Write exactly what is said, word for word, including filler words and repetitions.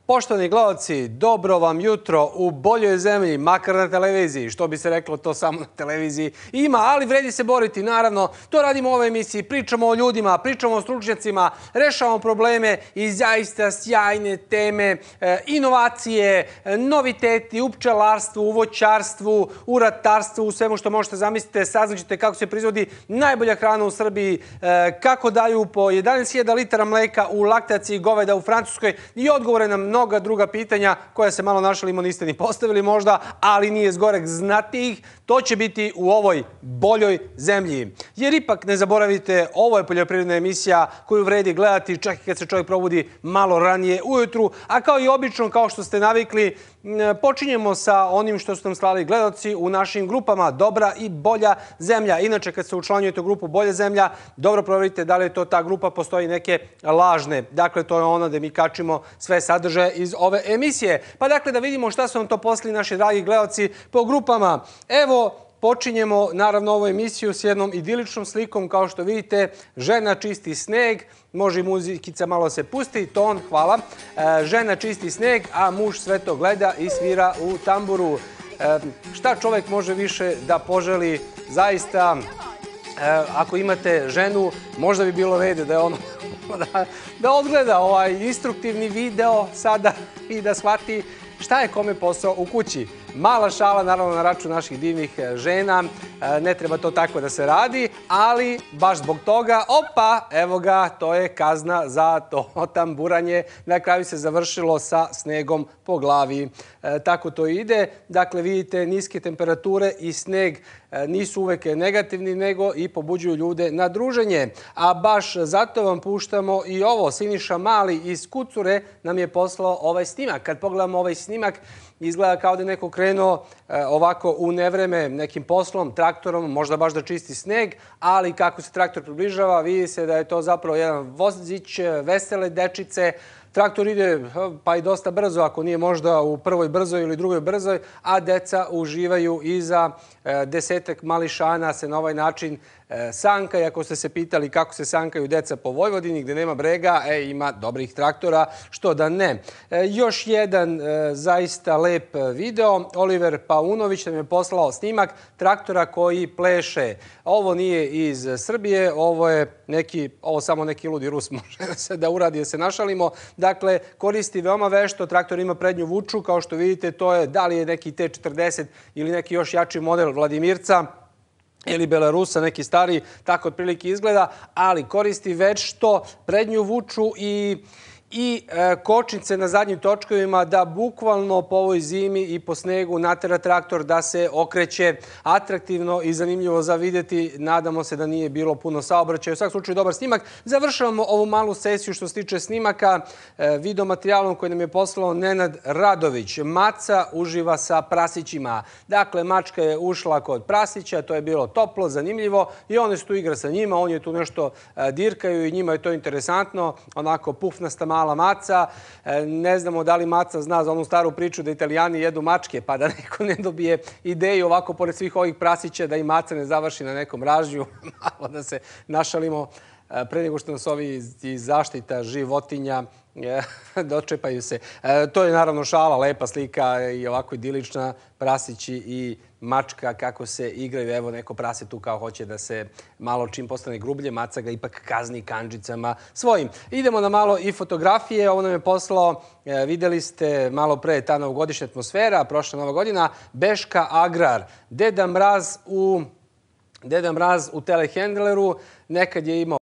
Poštovani gledalci, dobro vam jutro u boljoj zemlji, makar na televiziji. Što bi se reklo, to samo na televiziji ima, ali vredi se boriti, naravno. To radimo u ovoj emisiji, pričamo o ljudima, pričamo o stručnjacima, rešavamo probleme i zaista sjajne teme, inovacije, noviteti u pčelarstvu, u voćarstvu, u ratarstvu, u svemu što možete zamisliti. Saznaćete kako se proizvodi najbolja hrana u Srbiji, kako daju po jedanaest hiljada litara mleka u laktaciji goveda u Francuskoj i odgovore na mnogo mnoga druga pitanja koja se malo našalimo niste ni postavili možda, ali nije zgorek znati ih. To će biti u ovoj boljoj zemlji. Jer ipak ne zaboravite, ovo je poljoprivredna emisija koju vredi gledati čak i kad se čovjek probudi malo ranije ujutru, a kao i obično, kao što ste navikli, počinjemo sa onim što su nam slali gledalci u našim grupama Dobra i Bolja zemlja. Inače, kad se učlanjujete u grupu Bolja zemlja, dobro proverite da li je to ta grupa, postoji neke lažne. Dakle, to je ono da mi kačimo sve sadržaje iz ove emisije. Pa dakle, da vidimo šta su nam to poslali naši dragi gledalci po grupama. Evo, počinjemo naravno ovu emisiju s jednom idiličnom slikom. Kao što vidite, žena čisti sneg, može i muzikica malo se pusti, ton, hvala. Žena čisti sneg, a muž sve to gleda i svira u tamburu. Šta čovjek može više da poželi? Zaista, ako imate ženu, možda bi bilo red da je ono da odgleda ovaj instruktivni video sada i da shvati šta je kome posao u kući. Mala šala, naravno, na račun naših divnih žena. Ne treba to tako da se radi, ali baš zbog toga, opa, evo ga, to je kazna za to tamburanje. Na kraju se završilo sa snegom po glavi. Tako to ide. Dakle, vidite, niske temperature i sneg nisu uvek negativni, nego i pobuđuju ljude na druženje. A baš zato vam puštamo i ovo. Siniša Mali iz Kucure nam je poslao ovaj snimak. Kad pogledamo ovaj snimak, izgleda kao da je neko krenuo ovako u nevreme nekim poslom, traktorom, možda baš da čisti sneg, ali kako se traktor približava, vidi se da je to zapravo jedan vozić, vesele dečice. Traktor ide pa i dosta brzo, ako nije možda u prvoj brzoj ili drugoj brzoj, a deca uživaju iza desetak mališana se na ovaj način sanka. I ako ste se pitali kako se sankaju deca po Vojvodini gdje nema brega, e, ima dobrih traktora, što da ne. E, još jedan e, zaista lep video. Oliver Paunović nam je poslao snimak traktora koji pleše. Ovo nije iz Srbije, ovo je neki, ovo samo neki ludi Rus može se da uradi, da se našalimo. Dakle, koristi veoma vešto, traktor ima prednju vuču, kao što vidite, to je da li je neki T četrdeset ili neki još jači model Vladimirca ili Belarusa, neki stari, tako otprilike izgleda, ali koristi vešto prednju vuču i i kočnice na zadnjim točkovima da bukvalno po ovoj zimi i po snegu natera traktor da se okreće atraktivno i zanimljivo za vidjeti. Nadamo se da nije bilo puno saobraćaja. U svakom slučaju dobar snimak. Završavamo ovu malu sesiju što se tiče snimaka video materijalom koji nam je poslao Nenad Radović. Maca uživa sa prasićima. Dakle, mačka je ušla kod prasića, to je bilo toplo, zanimljivo i on je tu igra sa njima, on je tu nešto dirkaju i njima je to interesantno, onako pufnasta mala mala maca. Ne znamo da li maca zna za onu staru priču da Italijani jedu mačke, pa da neko ne dobije ideju ovako pored svih ovih prasića da i maca ne završi na nekom ražnju. Malo da se našalimo pre nego što nas ovi iz zaštita životinja dočepaju se. To je naravno šala, lepa slika i ovako idilična, prasići i mačka kako se igraju. Evo, neko prase tu kao hoće da se malo čim postane grublje, maca ga ipak kazni kandžicama svojim. Idemo na malo i fotografije. Ovo nam je poslao, vidjeli ste malo pre ta novogodišnja atmosfera, prošla nova godina, Beška Agrar. Deda Mraz u, Deda Mraz u telehendleru, nekad je imao